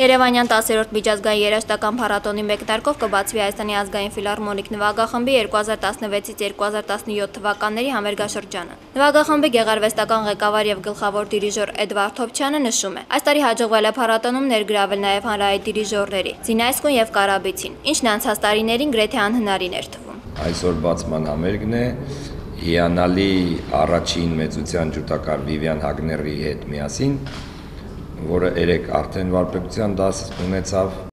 Երևանյան 10-րդ միջազգային երաժշտական փառատոնի մեկնարկով կբացվի Հայաստանի ազգային ֆիլհարմոնիկ նվագախմբի 2016-2017 թվականների համերգաշրջանը։ Նվագախմբի գեղարվեստական ղեկավար եւ գլխավոր դիրիժոր Էդվարդ Թոփչյանը նշում է. այս տարի հաջողվել է փառատոնում ներգրավել նաեւ հանրահայտ դիրիժորների Զինայսկուն եւ Կարաբիցին, ինչն անցած տարիներին գրեթե անհնարին էր թվում։ Այսօր բացման համերգն է հիանալի առաջին մեծության ջութակար Վիվիան Հագների հետ միասին, որը երեք արդեն վարպետության դաս ունեցավ